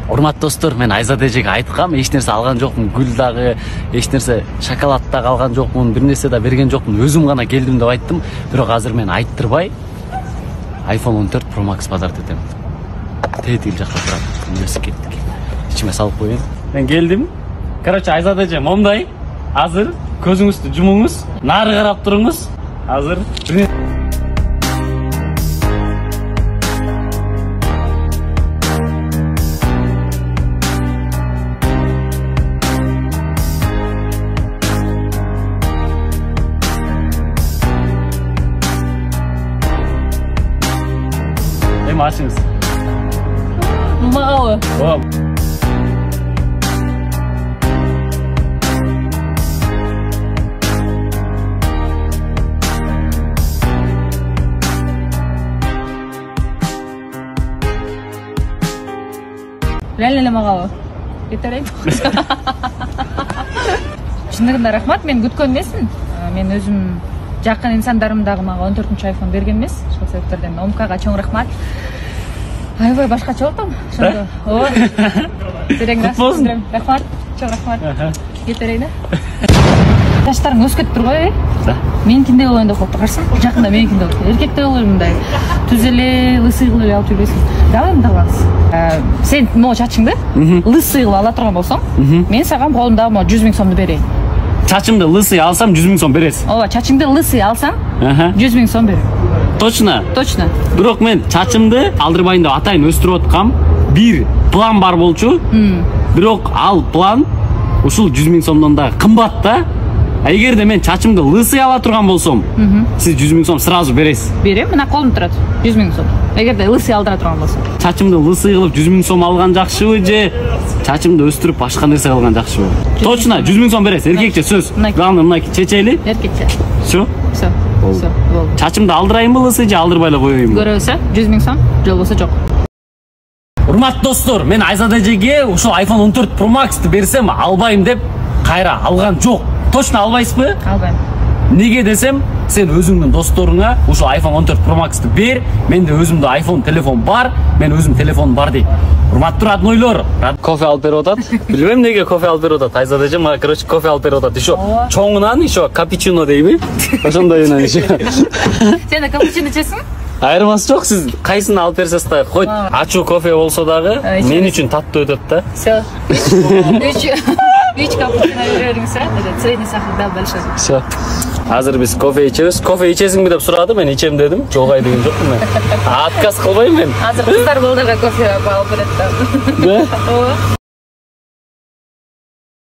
Урматтуу достор, мен Айзада эжеге айткам, эч нерсе алган жокмун, гүл дагы, эч нерсе шоколад дагы алган жокмун, бир нерсе да берген жокмун, өзүм гана келдим деп айттым. Бирок азыр мен айттырбай iPhone 14 Pro Max подарок этем. Тетил жакта турат, университеттик. Ичиме салып коеюн. Мен келдим. Короче, Айзада эже момдай. Азыр көзүңүздү жумуңуз, нары карап туруңуз. Азыр Açınız. Mau. Wow. Леле мага. Кетерейин. Чындыгында рахмат, мен күткөн эмесмин. Мен өзүм жакын инсандарым дагы мага 14-чү iPhone берген эмес. Ошол себептерден Омкага чоң рахмат. Аябай башкача болдум. Ошондо. Ооба. Береңиз. Рахмат. Чоң рахмат. Кетерейин. Жаштарың өсүп кетип турбайбы? Да. Меникиндей болоюн деп калып тургансың. Жакында меникиндей болот. Эркектей болоюн мындай. Түз эле, лысый кылып эле алып жүрбөйсүң. Давай мындай кылабыз. Сен могу чачыңды лысый кылып ала турган болсоң, мен сага колумдагы 100 000 сомду берейин. Чачымды лысый алсам 100 000 сом бересиз. Ооба, чачыңды лысый алсаң 100 000 сом берем. Точно? Точно. Бирок мен чачымды алдырбайын деп атайын өстүрүп аткам. Бир план бар болчу. Бирок ал план ушул 100 000 сомдон да кымбат да. Эгерде мен чачымды лысый ала турган болсом, сиз 100 000 сом сразу бересиз. Берем, мына колумда турат. 100 000 сом. Эгерде лысый алдыра турган болсом. Чачымды лысый кылып 100 000 сом алган жакшыбы же чачымды өстүрүп башка нерсе кылган жакшыбы? Точно 100 000 сом бересиз. Эркекче сөз. Главное мынакей чечели. Эркекче. Всё. Всё. Всё. Болду. Чачымды алдырайынбы лысый же алдырбай эле коеюнбу? Көрөбүз, 100 000 сом, же болбосо жок. Урматтуу достор, мен Айзада эжеге ушул iPhone 14 Pro Max'ты берсем албайм деп кайра алган жок. Точно албайсызбы? Албайм. Неге десем, сен өзүңдүн досторуңа ушул iPhone 14 Pro Max'ты бер, менде өзүмдө iPhone телефон бар, мен өзүм телефон бар дейт. Урматтуу роднойлор, кофе алып берип атат. Билбейм неге кофе алып берип атат. Айзада эже мага короче кофе алып берип атат. Ишо чоңунан, ишо капучино дейби? Ошондойунан ишо. Сен да капучино ичесиң? Айырмасы жок, сиз кайсыны алып берсеңиз да, хоть ачуу кофе болсо дагы мен үчүн таттуу өтөт да. Всё. 3 капучино бериңиз, средний сахар да большой. Всё. Азыр биз кофе ичебиз. Кофе ичесиңби деп сурады, мен ичем дедим. Жогай деген жокмун мен. Отказ кылбайм мен. Азыр кыздар балдарга кофе алып берет да. Да? Ооба.